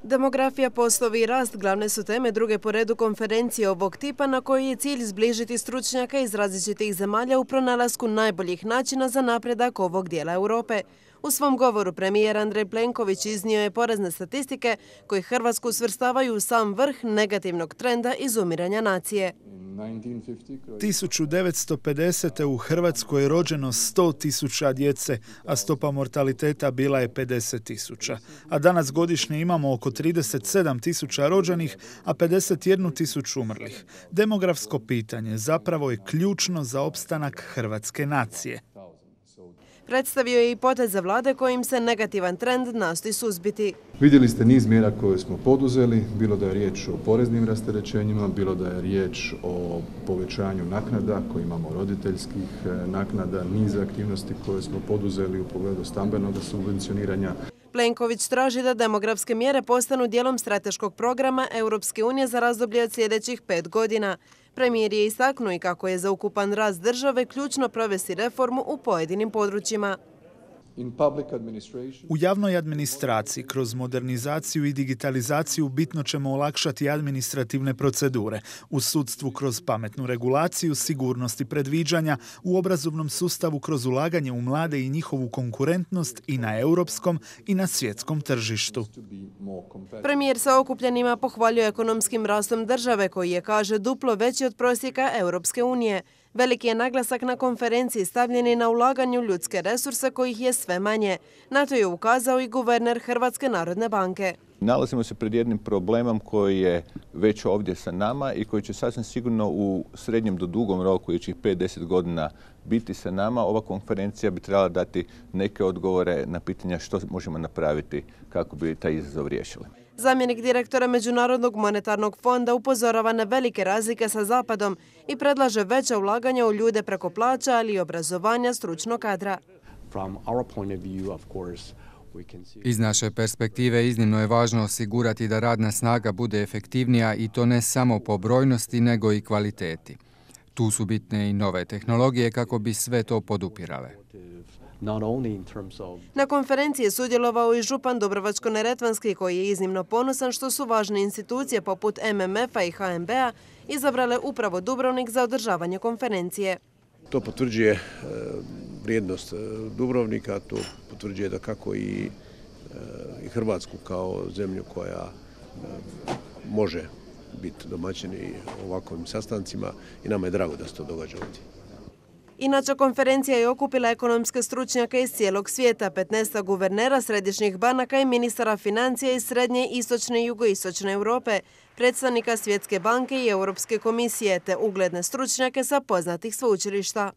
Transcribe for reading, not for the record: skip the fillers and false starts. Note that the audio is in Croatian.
Demografija, poslovi i rast glavne su teme druge po redu konferencije ovog tipa na kojoj je cilj zbližiti stručnjaka iz različitih zemalja u pronalasku najboljih načina za napredak ovog dijela Europe. U svom govoru premijer Andrej Plenković iznio je porazne statistike koji Hrvatsku svrstavaju u sam vrh negativnog trenda izumiranja nacije. 1950. u Hrvatskoj je rođeno 100.000 djece, a stopa mortaliteta bila je 50.000. A danas godišnje imamo oko 37.000 rođenih, a 51.000 umrlih. Demografsko pitanje zapravo je ključno za opstanak hrvatske nacije. Predstavio je i poteze vlade kojim se negativan trend nastoji suzbiti. Vidjeli ste niz mjera koje smo poduzeli, bilo da je riječ o poreznim rasterećenjima, bilo da je riječ o povećanju naknada koje imamo, roditeljskih naknada, niz aktivnosti koje smo poduzeli u pogledu stambenog subvencioniranja. Plenković traži da demografske mjere postanu dijelom strateškog programa Europske unije za razdoblje od sljedećih 5 godina. Premijer je istaknuo i kako je za ukupan rast države ključno provesti reformu u pojedinim područjima. U javnoj administraciji kroz modernizaciju i digitalizaciju bitno ćemo olakšati administrativne procedure, u sudstvu kroz pametnu regulaciju, sigurnost i predviđanja, u obrazovnom sustavu kroz ulaganje u mlade i njihovu konkurentnost i na europskom i na svjetskom tržištu. Premijer sa okupljenima pohvaljuje ekonomskim rastom države koji je, kaže, duplo veći od prosjeka Europske unije. Veliki je naglasak na konferenciji stavljeni na ulaganju ljudske resurse kojih je sve manje. Na to je ukazao i guverner Hrvatske narodne banke. Nalazimo se pred jednim problemom koji je već ovdje sa nama i koji će sasvim sigurno u srednjem do dugom roku, idućih 5-10 godina, biti sa nama. Ova konferencija bi trebala dati neke odgovore na pitanja što možemo napraviti kako bi taj izazov riješili. Zamjenik direktora Međunarodnog monetarnog fonda upozorava na velike razlike sa Zapadom i predlaže veća ulaganja u ljude preko plaća, ali i obrazovanja stručnog kadra. Iz naše perspektive iznimno je važno osigurati da radna snaga bude efektivnija i to ne samo po brojnosti, nego i kvaliteti. Tu su bitne i nove tehnologije kako bi sve to podupirale. Na konferenciji je sudjelovao i župan Dubrovačko-neretvanski koji je iznimno ponosan što su važne institucije poput MMF-a i HNB-a izabrale upravo Dubrovnik za održavanje konferencije. To potvrđuje vrijednost Dubrovnika, to potvrđuje da kako i Hrvatsku kao zemlju koja može biti domaćini ovakvim sastancima i nama je drago da se to događa ovdje. Inače, konferencija je okupila ekonomske stručnjake iz cijelog svijeta, 15 guvernera središnjih banaka i ministara financija iz srednje, istočne i jugoistočne Europe, predstavnika Svjetske banke i Europske komisije te ugledne stručnjake sa poznatih sveučilišta.